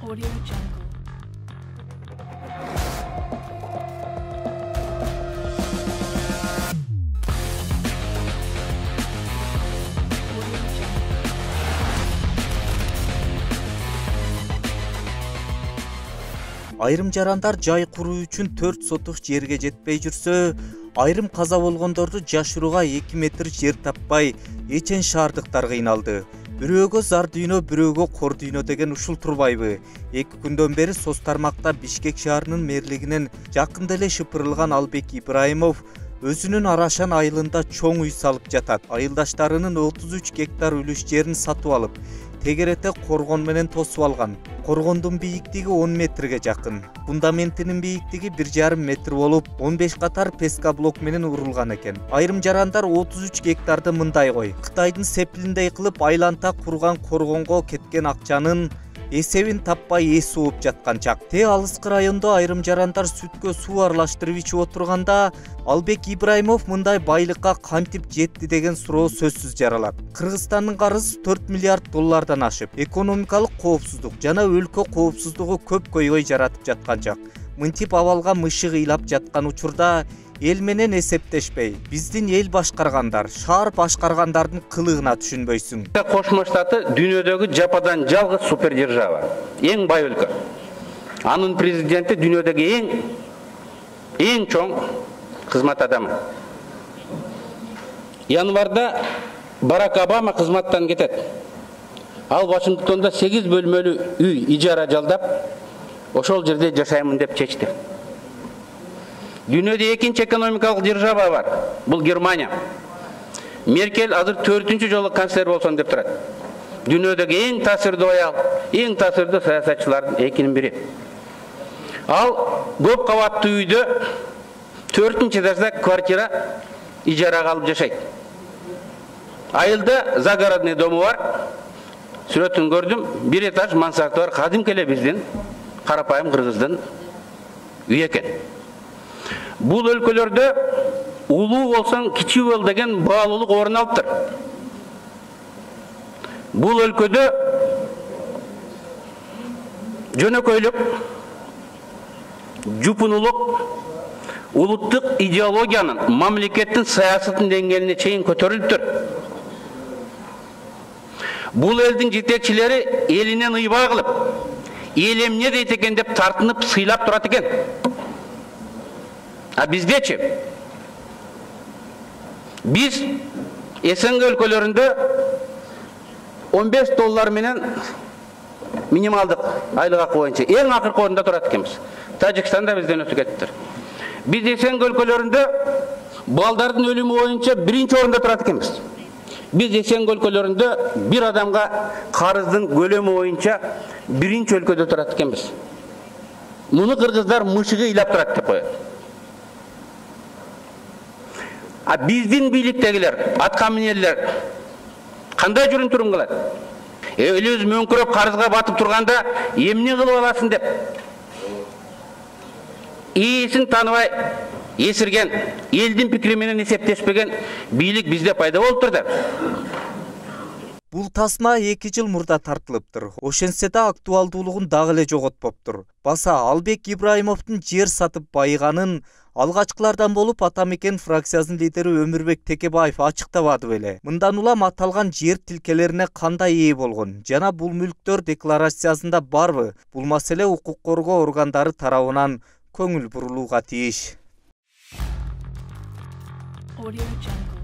Audio Jungle. Айрым жарандар жай куруу үчүн 4 сотук жерге жетпей жүрсө, айрым каза болгондорду жашырууга 2 метр жер таппай, эчен шаардыктар кыйналды. Бирөөгө зар дүйнө, бирөөгө кор дүйнө деген ушул турбайбы? 2 күндөн бери соц тармакта Бишкек шаарынын мэрлигинен жакында эле шыпырылган Албек Ибраимов өзүнүн Арашан айылында чоң үй салып жатат. Айылдаштарынын 33 гектар үлүш жерин сатып алып, тегерете коргон менен тосуп алган. Коргондун бийиктиги 10 метрге жакын. Фундаментинин бийиктиги 1,5 метр болуп, 15 катар пескоблок менен урулган экен. Айрым жарандар 33 гектарды мындай кой. Кытайдын сепилиндей кылып айланта курган коргонго кеткен акчанын эсебин таппай эс ууп жаткан чак. Алыскы райондо айрым жарандар сүткө суу аралаштырып ичип отурганда Албек Ибраимов мындай байлыкка кантип жетти деген суроо сөзсүз жаралат. Кыргызстандын карызы 4 миллиард доллардан ашып, экономикалык коопсуздук жана өлкө коопсуздугу көп көйгөй жаратып жаткан чак. Мынтип абалга мышык ыйлап жаткан учурда эл менен эсептешпей, биздин эл башкаргандар, шаар башкаргандардын кылыгына түшүнбөйсүң. Кошмо Штаты дүйнөдөгү жападан жалгыз супердержава, эң бай өлкө. Анын президенти дүйнөдөгү эң чоң кызмат адамы. Январда Барак Обама кызматтан кетет. Ал Вашингтонда 8 бөлмөлүү үй ижара жалдап, ошол жерде жашаймын деп чечти. Дүйнөдө экинчи экономикалык держава бар. Бул Германия. Меркель азыр 4-чү жолу канцлер болсом деп турат. Дүйнөдөгү эң таасирдүү аял, эң таасирдүү саясатчылардын экинин бири. Ал көп кабаттуу үйдө 4-этажда квартира ижарага алып жашайт. Айылда загородный дому бар. Сүрөтүн көрдүм. 1 этаж мансарты бар. Кадимки эле биздин карапайым кыргыздын үй экен. Бул өлкөлөрдө улуу болсоң кичүү бол деген баалуулук орун алыптыр. Бул өлкөдө жөнөкөйлүк, жупунулук улуттук идеологиянын, мамлекеттин саясатын деңгээлине чейин көтөрүлүптүр. Бул элдин жетекчилери элинен ыйбаа кылып, эл эмне дейт экен деп тартынып сыйлап турат экен. А биздечи? Биз СНГ өлкөлөрүндө 15 доллар менен минималдык айлык акы боюнча эң акыркы орунда турат экенбиз. Тажикстанда бизден өтүп кетиптир. Биз СНГ өлкөлөрүндө балдардын өлүмү боюнча 1-чи орунда турат экенбиз. Биз СНГ өлкөлөрүндө бир адамга карыздын көлөмү боюнча 1-чи өлкөдө турат экенбиз. Муну кыргыздар мышыгы ыйлап турат деп коет. А биздин бийликтегилер, аткаминерлер кандай жүрүн турум кылат? Элибиз мөңкүрөп карызга батып турганда эмне кылып аласың деп. Ээсин тааныбай эсирген, элдин пикири менен эсептешпеген бийлик бизде пайда болуптур да. Бул тасма 2 жыл мурда тартылыптыр. Ошентсе да актуалдуулугун дагы эле жоготпоптур. Баса Албек Ибраимовдун жер сатып байыганын алгачкылардан болуп Атамекен фракциясынын лидери Өмүрбек Текебаев ачыктабады беле. Мындан улам аталган жер тилкелерине кандай ээ болгон жана бул мүлктөр декларациясында барбы? Бул маселе укук коргоо органдары тарабынан көңүл бурулууга тийиш. Audio Jungle.